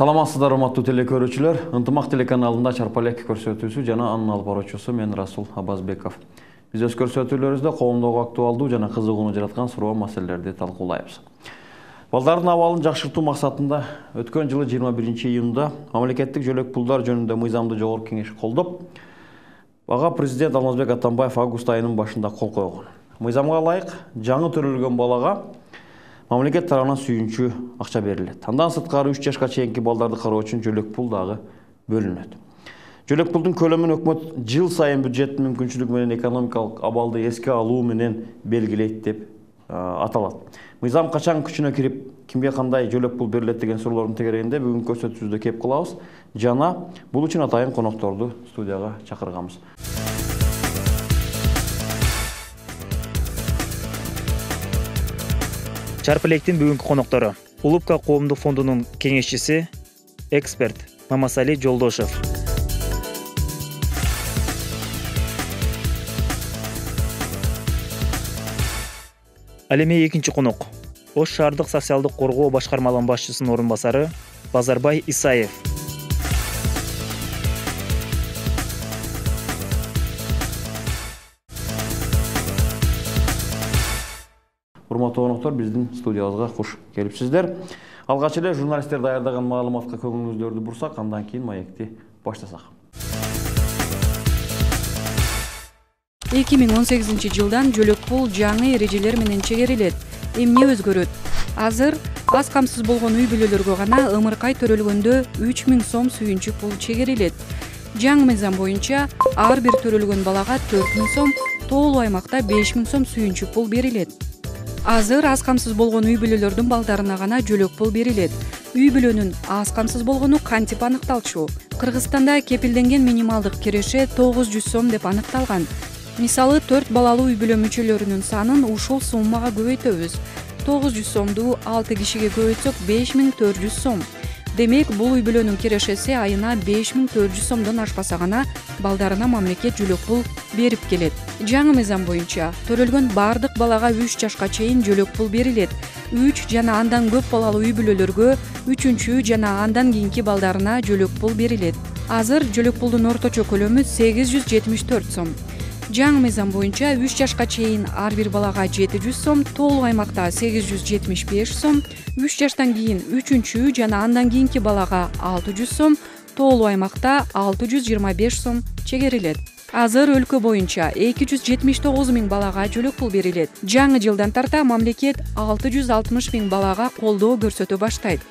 Саламатсыздар, урматтуу телекөрүүчүлөр. Ынтымак телеканалында чарпалек көрсөтүүсү жана анын алып баруучусу мен Расул Абазбеков. Биз өз көрсөтүүлөрүбүздө коомдогу актуалдуу жана кызыгууну жараткан суроо маселелерди талкуулайбыз. Балдардын абалын жакшыртуу максатында өткөн жылы 21-июнда мамлекеттик жөлөк пулдар жөнүндө мыйзамды жогорку кеңеш колдоп, ага президент Алмазбек Атамбаев август айынын башында кол койгон. Мыйзамга ылайык жаңы төрөлгөн балага мамлекет тарабынан сүйүнчү акча берилет. Андан сырткары 3 жашка чейинки балдарды кароо үчүн жөлөк пул дагы бөлүнөт. Жөлөк пулдун көлөмүн өкмөт жыл сайын бюджеттин мүмкүнчүлүгү менен экономикалык абалды эске алуу менен белгилейт деп аталат. Мыйзам качан күчүнө кирип, кимге кандай жөлөк пул берилет деген суроолордун тегерегинде бүгүнкү көрсөтүүбүздө кеп кылабыз. Жана бул үчүн атайын конокторду студияга чакырганбыз. Чарпалектин бүгүнкү коноктору Улупка коомдук фондунун кеңешчиси, эксперт Мамасали Жолдошев. Ал эми экинчи конок Ош шаардык социалдык коргоо башкармалыгынын башчысынын орун басары Базарбай Исаев. Урматтуу коноктор, биздин студиябызга куш келипсиздер. Алгач эле журналисттер даярдаган маалыматка көңүлүңүздөрдү бурсак, андан кийин маекти баштасак. 2018 жылдан жөлөк пул жаңы эрежелер менен чегерилет. Эмне өзгөрөт? Азыр аз камсыз болгон үй бүлөлөргө гана ымыркай төрөлгөндө 3000 сом сүйүнчү пул чегерилет. Жаңы мыйзам боюнча ар бир төрөлгөн балага 4000 сом, тоолуу аймакта 5000 сом сүйүнчү пул берилет. Азыр аз камсыз болгон үй бүлөлөрдүн балдарына гана жөлөк пул берилет. Үй бүлөнүн аз камсыз болгону кантип аныкталчу? Кыргызстанда кепилденген минималдык киреше 900 сом деп аныкталган. Мисалы 4 балалуу үй бүлө мүчөлөрүнүн санын ушул суммага көбөйтөбүз. 900 сомду 6 кишиге көбөйтсөк 5400 сом. Демек, бул үй бүлөнүн кирешеси айына 5400 сомдон ашпаса гана балдарына мамлекет жөлөк пул берип келет. Жаңы мыйзам боюнча төрөлгөн бардык балага 3 жашка чейин жөлөк пул берилет. 3 жана андан көп балалуу үй бүлөлөргө 3-чү жана андан кийинки балдарына жөлөк пул берилет. Азыр жөлөк пулдун орточо көлөмү 874 сом. Жаңы мыйзам боюнча 3 жашка чейин ар бир балага 700 сом, тоолуу аймакта 875 сом, 3 жаштан кийин 3-чү жана андан кийинки балага 600 сом, тоолуу аймакта 625 сом чегерилет. Азыр өлкө боюнча 279 000 балага жөлөк пул берилет. Жаңы жылдан тарта мамлекет 660 000 балага колдоо көрсөтө баштайт.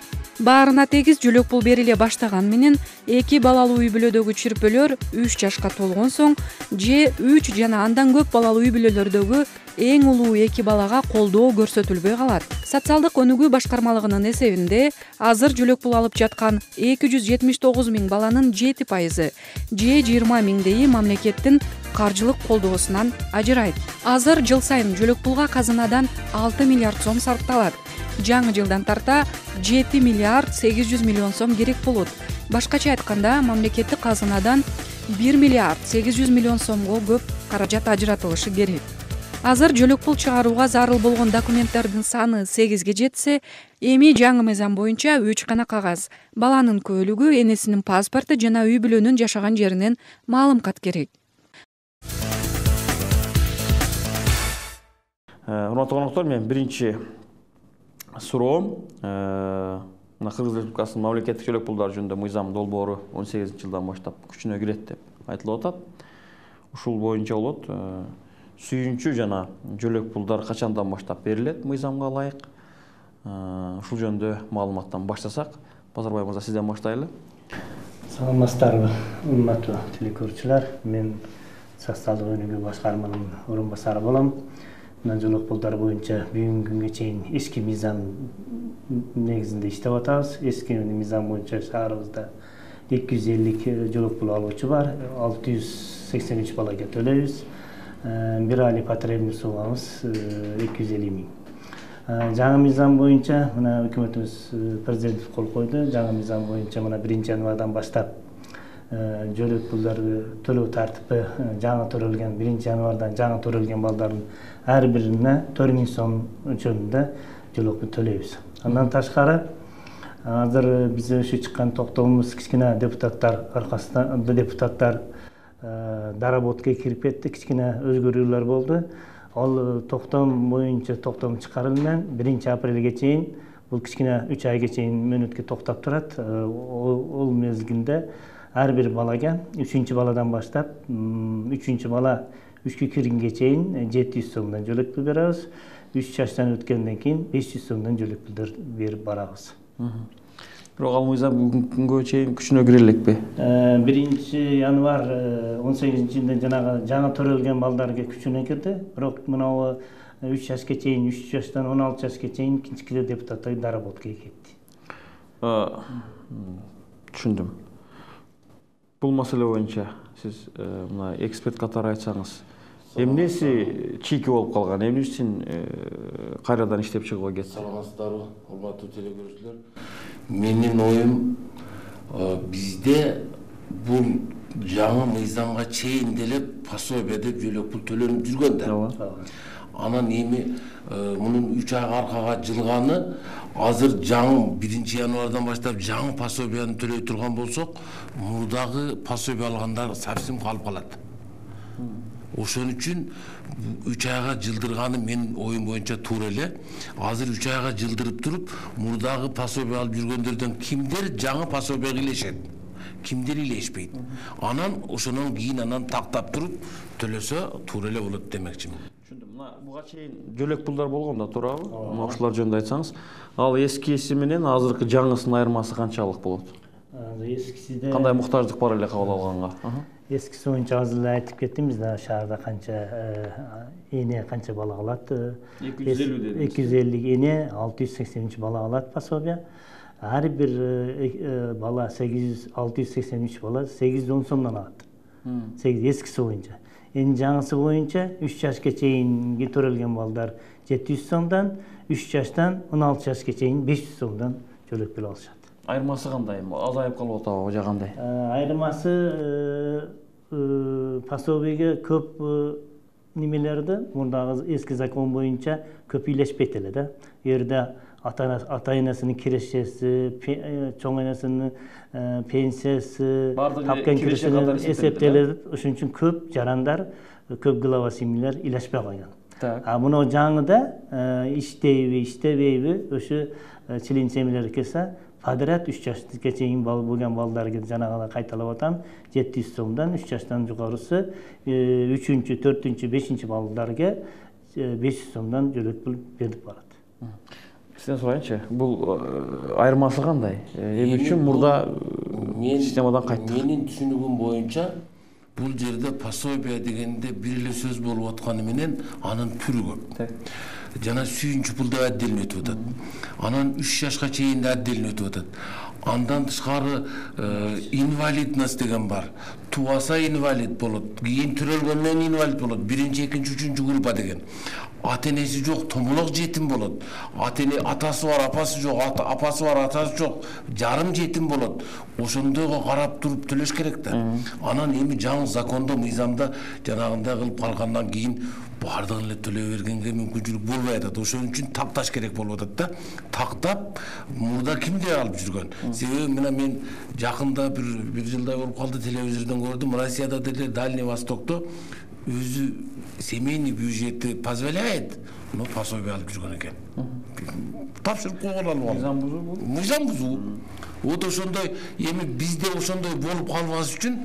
Баарына тегиз жөлөк пул бериле баштаган менен 2 балалуу үй бүлөдөгү чирпөлөр 3 жашка толгон соң же 3 жана андан көп балалуу үй бүлөлөрдөгү эң улуу 2 балага колдоо көрсөтүлбөй калат. Социалдык өнүгүү башкармалыгынын эсебинде азыр жөлөк пул алып жаткан 279 000 баланын 7% же 20 000 мамлекеттин каржылык колдоосунан ажырайт. Азыр жыл сайын жөлөк пулга казынадан 6 миллиард сом сарпталат. Жаңы жылдан тарта 7 миллиард 800 миллион сом керек болот. Башкача айтканда, мамлекеттик казынадан 1 миллиард 800 миллион сомго көп каражат ажыратылышы керек. Азыр жөлөк пул чыгарууга зарыл болгон документтердин саны 8ге жетсе, эми жаңы мыйзам боюнча 3 гана кагаз: баланын куөлүгү, энесинин паспорту жана үй бүлөнүн жашаган жеринен маалымкат керек. Урматтуу коноктор, мен биринчи суроом Кыргыз Республикасынын мамлекеттик жөлөк пулдар жөнүндө мыйзам долбоору 18-жылдан баштап күчүнө кирет деп айтылып атат. Ушул боюнча болот. Сүйүнчү жана жөлөк пулдар качандан баштап берилет мыйзамга ылайык? Ушул жөнүндө маалыматтан баштасак, Базарбай мырза, сизден баштайлы. Саламатсыздарбы, урматтуу телекөрүүчүлөр. Мен социалдык өнүгүү башкармалыгынын орун басары болом. Жөлөк пулдар боюнча бүгүнкү күнгө чейин эски мыйзам негизинде иштеп атабыз. Эски мыйзам боюнча шаарыбызда 250 жөлөк пул алуучу бар, 683 балага төлөйбүз. Бир айлык потребный суммабыз 250 000. Жаңы мыйзам боюнча мына өкмөтүбүз президент кол койду. Жаңы мыйзам боюнча мына 1-январдан баштап жөлөк пулдарды төлөө тартипи жаңы төрөлгөн 1-январдан жаңы төрөлгөн балдардын ар бирине 4000 сом өлчөмүндө жөлөк пул төлөйбүз. Андан ташкары Азыр биз ошо чыккан токтомубуз кичкене депутаттар аркасынан депутаттар доработкага кирип кетти, кичкене өзгөрүүлөр болду. Ал токтом боюнча токтом чыгарылган 1-апрелге чейин, бул кичкене 3 айга чейин мөөнөткө токтоп турат. Ол мезгилде ар бир балага 3-баладан баштап 3-бала 3кө киргенге чейин 700 сомдон жөлөк пул беребиз. 3 жаштан өткөндөн кийин 500 сомдон жөлөк пулдар берип барабыз. Бирок ал мыйзам бүгүнкү күнгө чейин күчүнө кире элекпи? 1-январь 18-жылда жанагы жаңы төрөлгөн балдарга күчүнө кирди. Бирок мынау 3 жашка чейин, 3 жаштан 16 жашка чейин кичкене депутаттар доработкага кетти. Түшүндүм. Бул маселе боюнча сиз мына эксперт катары айтсаңыз, эмнеси чийки болуп калган, эмне үчүн кайрадан иштеп чыгууга кетти? Саламатсыздарбы, урматтуу телекөрүүчүлөр. Менин оюм, бизде бул жаңы мыйзамга чейин деле пособие деп жөлөк пул төлөнүп жүргөн да. Анан эми мунун 3 айга аркага жылганы, азыр жаңы 1-январдан баштап жаңы пособияны төлөй турган болсок, мурдагы пособие алгандар совсем калып калат. Ошон үчүн 3 айга жылдырганы менин оюм боюнча туура эле. Азыр 3 айга жылдырып туруп, мурдагы пособие алып жүргөндөрдөн кимдер жаңы пособияга илешет, кимдер илешпейт. Анан ошонун кийин анан тактап туруп төлөсө туура эле болот демекчимин. Түшүндүм. Мына буга чейин жөлөк пулдар болгон да, туурабы? Мына ушулар жөнүндө айтсаңыз, ал эскиси менен азыркы жаңысынын айырмасы канчалык болот? Эскисиде Кандай муктаждык бар эле кабыл алганга? Эскиси боюнча азыр эле айтып кеттим, бизде шаарда канча эне канча бала алат? 250 дедиңиз. 250 эне, 683 бала алат пособие. Ар бир бала 683 бала 810 сомдон алат. 8 эскиси боюнча. Эми жаңысы боюнча 3 жашка чейинги төрөлгөн балдар 700 сомдон, 3 жаштан 16 жашка чейин 500 сомдон жөлөк пул алышат. Айырмасы кандай? Азайып калып атабы же кандай? Айырмасы пособиеге көп немелерди мурдагы эски закон боюнча көп үйлешпейт эле да. Жерде ата-энесинин кирешеси, чоң энесинин пенсиясы, тапкан кирешеси эсептелет. Ошон үчүн көп жарандар, көп глава семьялар үйлешпей калган. А мына жаңыда иштейби, иштебейби, ошо член семьялар келсе, подряд 3 жашка чейин болгон балдарга жанагы кайталап атам, 700 сомдон 3 жаштан жогорусу 3-чү, 4-чү, 5-чи балдарга 500 сомдон жөлөк пул берип барат. Сизден сурайынчы, бул айырмасы кандай? Эмне үчүн мурда системадан кайттык? Менин түшүнүгүм боюнча бул жерде пособие дегенде бир эле сөз болуп атканы менен анын түрү көп. Жана сүйүнчү пул да отдельно өтүп атат. Анан 3 жашка чейин да отдельно өтүп атат. Андан тышкары инвалидность деген бар. Тубаса инвалид болот, кийин төрөлгөндөн инвалид болот. 1-2, 3-4 группа деген. Ата-энеси жок, томолок жетим болот. Атасы бар, апасы жок, апасы бар, атасы жок, жарым жетим болот. Ошондойго карап туруп төлөш керек да. Анан эми жаңы закондо, мыйзамда жанагындай кылып калгандан кийин бардыгын эле төлөй бергенге мүмкүнчүлүк болбой атат. Ошон үчүн такташ керек болуп атат да. Тактап мурда кимдер алып жүргөн? Себеби мен жакында бир жылдай болуп калды, телевизордон көрдүм. Россияда деле Дальний Востокто өзү семейный бюджети позволяет, но пособие алып жүргөн экен. Тапшырып койгон алып. Мыйзам бузуу бул. Мыйзам бузуу. Вот ошондой эми бизде ошондой болуп калбас үчүн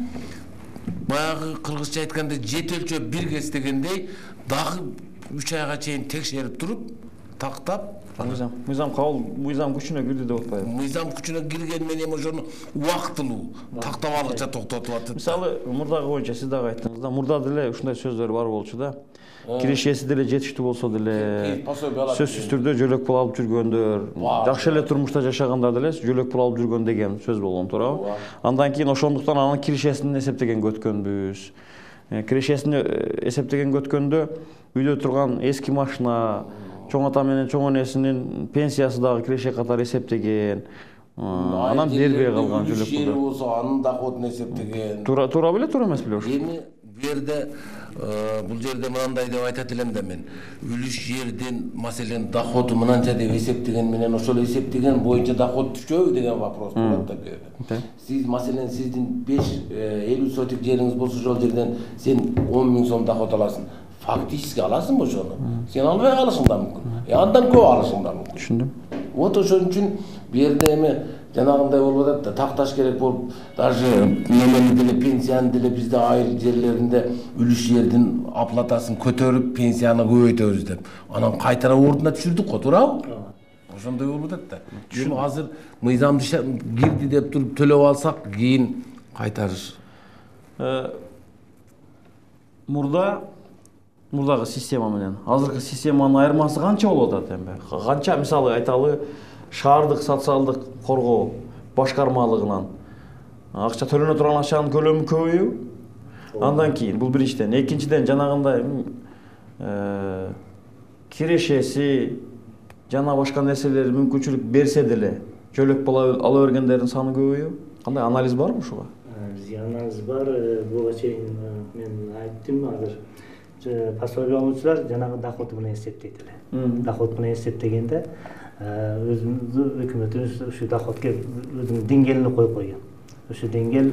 баягы кыргызча айтканда жет өлчөп бир кес дегендей дагы 3 айга чейин текшерип туруп, тактап Мыйзам кабыл, мыйзам күчүнө кирди деп атпайбы? Мыйзам күчүнө кирген менен ошону убактылуу тактап алгыча токтотуп атат. Мисалы, мурдагы боюнча сиз дагы айттыңыз да, мурда деле ушундай сөздөр бар болчу да. Кирешеси деле жетиштүү болсо деле, сөзсүз түрдө жөлөк пул алып жүргөндөр, жакшы эле турмушта жашагандар деле жөлөк пул алып жүргөн деген сөз болгон, туурабы? Андан кийин ошондуктан анын кирешесин эсептегенге өткөнбүз. Кирешесин эсептегенге өткөндө үйдө турган эски машина, чоң ата менен чоң энесинин пенсиясы дагы киреше катары эсептеген. Анан бербей калган жөлөк пулду. Болсо анын доходун эсептеген. Туура беле, туура эмес беле ошо? Эми бу жерде бул жерде мынандай деп айтат элем да мен. Үлүш жердин маселен доходу мынанча деп эсептеген менен ошол эсептеген боюнча доход түшөбү деген вопрос болот да бул жерде. Сиз маселен сиздин 50 сотик жериңиз болсо ошол жерден сен 10 000 сом доход аласың. Фактически аласың ошону. Сен албай калышың да мүмкүн. Андан көп алышың да мүмкүн. Түшүндүм. Вот ошон үчүн бу жерде эми жанагындай болуп атат да, такташ керек болуп, даже немени деле пенсияны деле бизде айыл жерлеринде үлүш жердин оплатасын көтөрүп, пенсияны көбөйтөбүз деп. Анан кайтара ордуна түшүрдүк го, туурабы? Ошондой болуп атат да. Эми азыр мыйзамды кирди деп туруп төлөп алсак, кийин кайтарыш. Мурдагы система менен азыркы системанын айырмасы канча болуп атат эми? Канча мисалы айталы шаардык социалдык коргоо башкармалыгынан акча төлөнө турган акчанын көлөмү көбөйүбү? Андан кийин бул биринчиден, экинчиден жанагындай кирешеси жана башка нерселер мүмкүнчүлүк берсе деле жөлөк ала бергендердин саны көбөйүбү? Кандай анализ барбы ушуга? Бизде анализ бар. Буга чейин мен айттым азыр. Пособие алуучулар жанагы доходу менен эсептейт эле. Доход менен эсептегенде өзүбүздүн өкмөтүбүз ушу доходко өзүнүн деңгээлин коюп койгон. Ушу деңгээл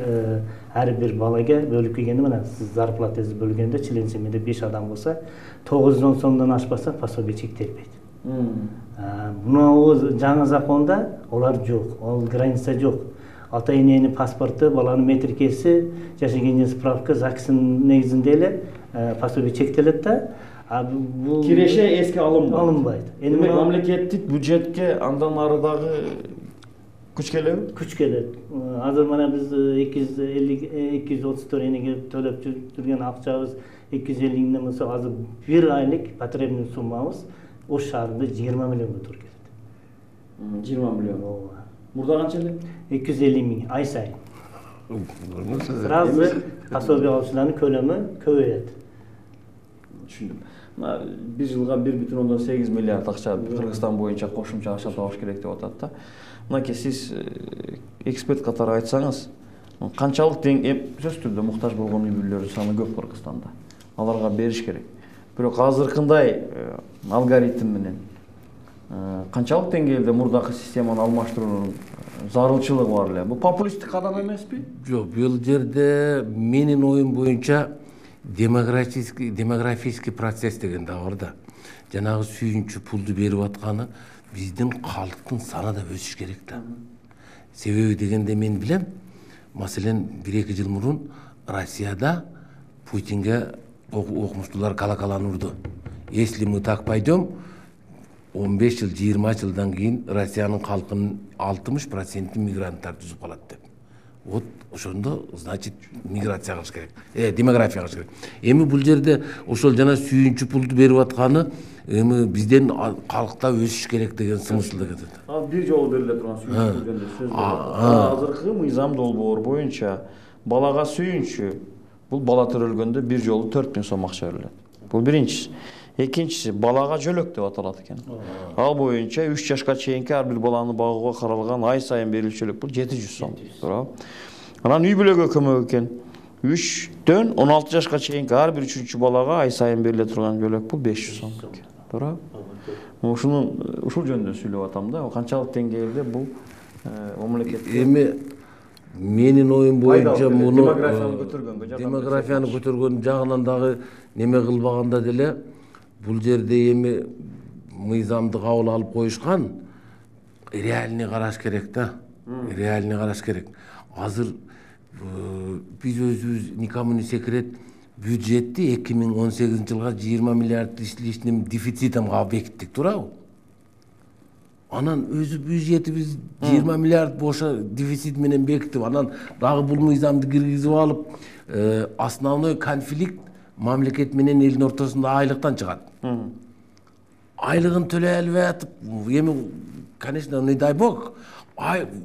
ар бир балага бөлүп келгенде мына сиз зарплатаңызды бөлгөндө член семьяда 5 адам болсо 910 сомдон ашпаса пособие чектелбейт. Мына жаңы законда олар жок, ал граница жок. Ата эненин паспорту, баланын метрикеси, жашаган жер справка, ЗАГСтын негизинде эле пособие чектелет да. Бул Киреше эске алынбайт. Эми Мамлекеттик бюджетке андан ары дагы күч келеби? Күч келет. Азыр мына биз 234 энеге төлөп жүргөн акчабыз 250 миңден болсо азыр бир айлык потребный суммабыз Ош шаарында 20 миллионго туура келет. 20 миллион. Мурда канча эле? 250 миң ай сайын. Сразу пособие алуучулардын көлөмү көбөйөт. Түшүндүм. Bir жылга 1,8 миллиард акча Кыргызстан боюнча кошумча акча табыш керек деп атат да. Мынакей сиз эксперт катары айтсаңыз, канчалык сөзсүз түрдө муктаж болгон үй бүлөлөрдүн саны көп Кыргызстанда. Аларга бериш керек. Бирок азыркындай алгоритм менен канчалык деңгээлде мурдакы системаны алмаштыруунун зарылчылыгы бар эле? Бул популисттик кадам эмеспи? Жок, бул жерде менин оюм боюнча демографический процесс деген да бар да. Жанагы сүйүнчү пулду берип атканы биздин калктын саны да өсүш керек да. Себеби дегенде мен билем, маселен 1-2 жыл мурун Россияда Путинге окумуштуулар колоколаны урду. Если мы так пойдем, 15 жыл, 20 жылдан кийин Россиянын калкынын 60% мигранттар түзүп калат деп. Вот ошондо, значит, миграция кылыш керек. Демография кылыш керек. Эми бул жерде ошол жана сүйүнчү пулду берип атканы эми бизден калкта өсүш керек деген смыслда кетет. Бир жолу бериле турган сүйүнчү жөнүндө сөз бар. Азыркы мыйзам долбоор боюнча балага сүйүнчү бул бала төрөлгөндө бир жолу 4000 сом акча берилет. Бул биринчиси. Экинчиси балага жөлөк деп аталат экен. Ал боюнча 3 жашка чейинки ар бир баланы багууга каралган ай сайын берилчү жөлөк бул 700 сом. Туурабы? Анан үй бүлөгө көмөк экен. 3дөн 16 жашка чейинки ар бир 3-чү балага ай сайын бериле турган жөлөк бул 500 сом экен. Туурабы? Ушул жөнүндө сүйлөп атам да. Канчалык деңгээлде бул мамлекет эми менин оюм боюнча муну демографияны көтөргөн жагынан дагы неме кылбаганда деле бул жерде эми мыйзамды кабыл алып коюшкан, реальный караш керек да. Реальный караш керек. Азыр биз өзүбүз никому не секрет бюджетти 2018 жылга 20 миллиард ишлишним дефицитим бекиттик, туурабы? Анан өзү бюджетибиз 20 миллиард боша дефицит менен бекитип, анан дагы бул мыйзамды киргизип алып, основной конфликт мамлекет менен элдин ортосунда айлыктан чыгат. Айлыгын төлөй албай атып, эми, конечно, не дай бог,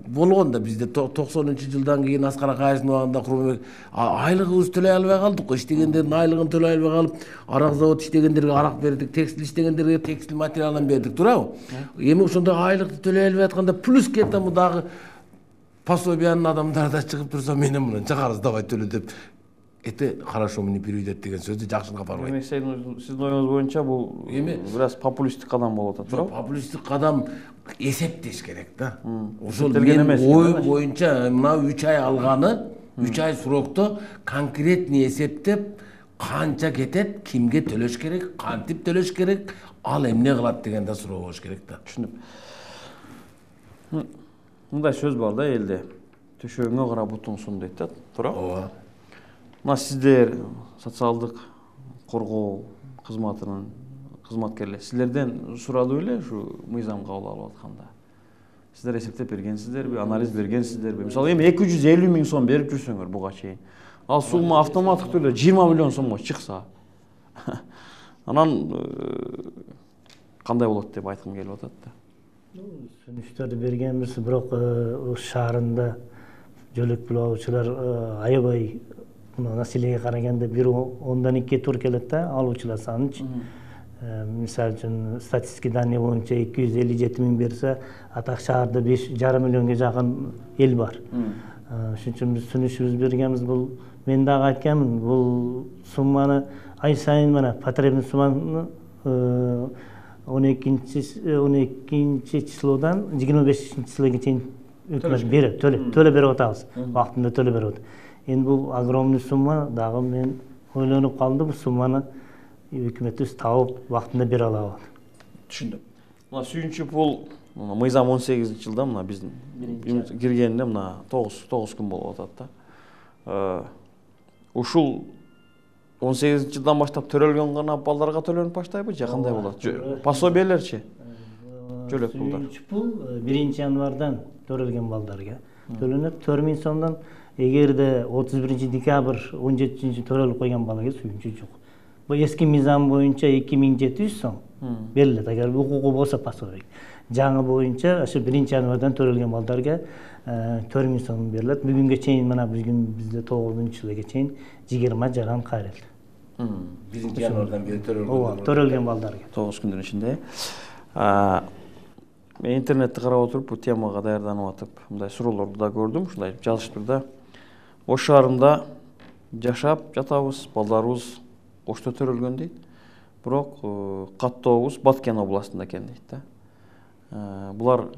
болгон да бизде 90-жылдан кийин Аскар Акаевдин убагында Курманбек айлыгыбызды төлөй албай калдык го, иштегендердин айлыгын төлөй албай калып, арак завод иштегендерге арак бердик, текстиль иштегендерге текстиль материалын бердик, туурабы? Эми ошондой айлыкты төлөй албай атканда плюс кетем дагы пособиянын адамдары да чыгып турса, менен мына чыгарыз давай төлө деп это хорошо мне переведет деген сөздү жакшылыкка барбайт. Демек сиздин оюңуз боюнча бул бир аз популисттик кадам болуп атат, туурабы? Популисттик кадам эсептеш керек да. Ошол Эсептелген мен эмес. ой боюнча мына 3 ай алганы, 3 ай срокто конкретный эсептеп канча кетет, кимге төлөш керек, кантип төлөш керек, ал эмне кылат деген да суроо болуш керек да. Түшүнүп. Мындай сөз бар да элде. Төшөгүңө карап бутуң сун дейт да, туурабы? Ооба. Мына сиздер социалдык коргоо кызматынын кызматкерлери силерден сурадыбы эле ушу мыйзам кабыл алып атканда? Сиздер эсептеп бергенсиздерби, анализ бергенсиздерби? Мисалы эми 250 миң сом берип жүрсөңөр буга чейин, ал сумма автоматтык түрдө 20 миллион сомго чыкса, анан кандай болот деп айткым келип атат да. Сүнүштөрдү бергенбиз, бирок шаарында жөлөк пул алуучулар аябай населеге караганда 1/12 тур келет да, алуучулар санычы. Мисалы үчүн статистика данные боюнча 257 миң берсе, атак шаарда 5,5 миллионго жакын эл бар. Ошон үчүн биз сүнүшүбүз бергенбиз. Бул мен дагы айтканмын, бул сумманы ай сайын мына потребный сумманы 12 числодан 25 числоге чейин өкмөт берет, төлө берип атабыз. Вактында төлө берип атат. Эми бул огромный сумма, дагы мен ойлонуп калдым, бул сумманы өкмөтүбүз табып вактында бере алабы. Түшүндүм. Мына сүйүнчү пул мыйзам 18-жылда мына биздин киргенине мына 9 күн болуп атат да. Ушул 18-жылдан баштап төрөлгөн гана балдарга төлөнүп баштайбы же кандай болот? Пособиелерчи? Жөлөк пулдар. Сүйүнчү пул 1 январдан төрөлгөн балдарга төлөнөт. 4 миң сомдон эгерде 31 декабрь 17 төрөлүп койгон балага сүйүнчү жок. Бул эски мыйзам боюнча 2700 сом берилет, агар укугу болсо пособие. Жаңы боюнча ошо 1 январдан төрөлгөн балдарга 4 миң сом берилет. Бүгүнгө чейин мына бүгүн бизде 9-чыйга чейин 20 жаран кайрылды. 1 январдан бери төрөлгөн. Ооба, төрөлгөн балдарга. 9 күндүн ичинде. Мен интернетти карап отуруп, бул темага даярданып атып, мындай суроолорду да көрдүм, ушундай жазышыптыр да. Ош шаарында жашап жатабыз, балдарыбыз Ошто төрөлгөн дейт. Бирок каттообуз Баткен областында экен дейт да. Булар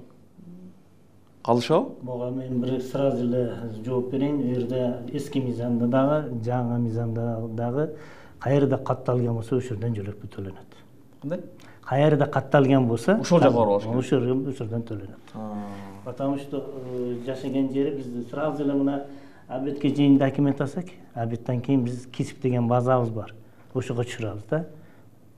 калышабы? Буга мен бир сразу эле жооп берейин. Бу жерде эски мыйзамда дагы, жаңы мыйзамда дагы каерде катталган болсо ошордон жөлөк пул төлөнөт. Кандай? Каерде катталган болсо, ошол жака барып алыш керек. Ошордон төлөнөт. Потому что жашаган жери бизде сразу эле мына обедке чейин документ алсак, обедтен кийин биз кесип деген базабыз бар. Ошого түшүрөбүз да.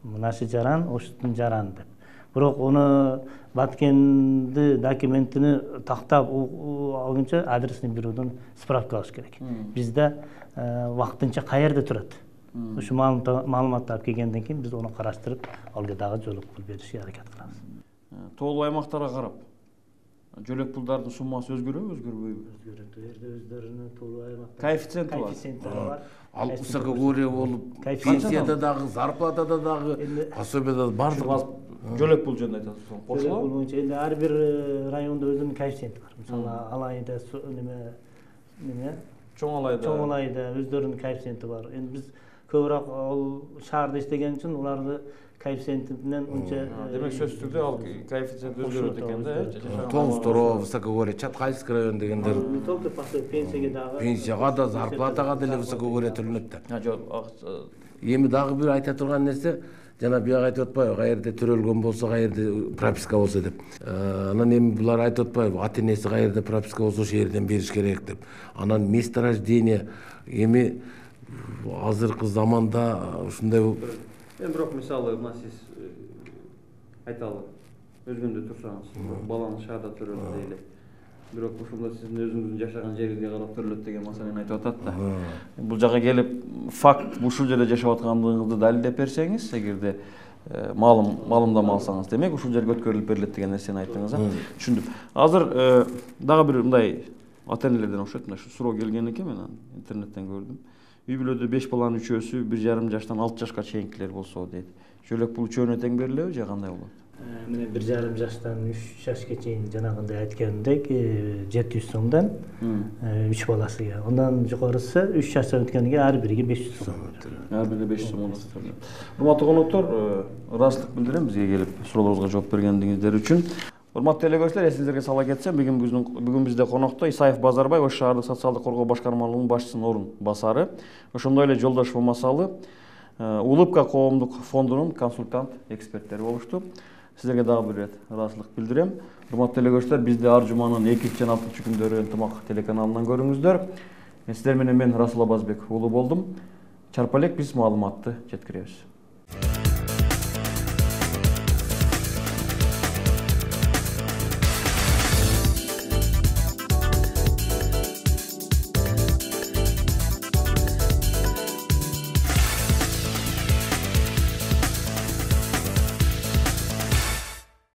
Мынашы жаран, оштун жараны деп. Бирок ону Баткенди документини тактап алгынча адресин берүүдөн справка алыш керек. Бизде вактынча каерде турат. Ушу маалыматты алып келгенден кийин биз ону караштырып, алга дагы жөлөк пул беришке аракет кылабыз. Тоолуу аймактарга карап, жөлөк пулдардын суммасы өзгөрөбү, өзгөрбөйбү? Өзгөрөт. Өздөрүнүн тоолуу аймактар Коэффициенти бар. Ал высокогорье болуп, пенсияда дагы, зарплатада дагы, пособияда бардык. Жөлөк пул жөнүндө айтасыз, кошулабы? Жөлөк боюнча эми ар бир райондо өзүнүн коэффициенти бар. Мисалы, Алайда неме Чоң Алайда өздөрүнүн коэффициенти бар. Эми биз көбүрөөк ал шаарда иштеген үчүн уларды коэффициентинен унча демек сөзсүз түрдө ал коэффициент өзгөрөт экен да. Тоғызтoro, Высокогорье, Чаткальский район дегендер. Только пенсияга дагы. Пенсияга да, зарплатага деле Высокогорье төлөнөт да. Жок, Эми дагы бир айта турган нерсе, жана бияк айтып атпайбы, каерде төрөлгөн болсо, каерде прописка болсо деп. Анан эми булар айтып атпайбы, ата-энеси каерде прописка болсо ошол жерден бериш керек деп. Анан место рождения эми азыркы заманда ушундай эми бирок мисалы мына сиз айталы өзгөндө турсаңыз, балаңыз шаарда төрөлдү дейли. Бирок ошондо сиздин өзүңүздүн жашаган жериңизге карап төрөлөт деген маселени айтып атат да. Бул жака келип факт ушул жерде жашап аткандыгыңызды далилдеп берсеңиз, эгерде маалымдама алсаңыз, демек ушул жерге өткөрүлүп берилет деген нерсени айттыңыз, түшүндүм. Азыр дагы бир мындай ата-энелерден окшойт, мына ушу суроо келген экен, мен интернеттен көрдүм. Үй бүлөдө 5 баланын 3-өсү 1,5 жаштан 6 жашка чейинкилер болсо дейт. Жөлөк пул үчөөнө тең берилеби же кандай болот? Мына 1,5 жаштан 3 жашка чейин жанагындай айткандек 700 сомдон 3 баласыга. Ondan жогорусу 3 жаштан өткөнгө ар бириге 500 сом. Ар бириге 500 сом. Урматтуу коноктор, ырастык билдирем бизге келип суроолорубузга жооп бергендигиңиздер үчүн. Урматтуу телекөрүүчүлөр, эсиңизерге сала кетсем, бүгүн бизде конокто Исаев Базарбай Ош шаардык социалдык коргоо башкармалыгынын башчысынын орун басары, ошондой эле Жолдошов Масалы Улыбка коомдук фондунун консультант эксперттери болушту. Сиздерге дагы бир ирет ыраазычылык билдирем. Урматтуу телекөрүүчүлөр, бизди ар жуманын 2 жана 6 күндөрү Ынтымак телеканалынан көрүңүздөр. Сиздер менен мен Расул Абазбек уулу болдум. Чарпа элек биз маалыматты жеткиребиз.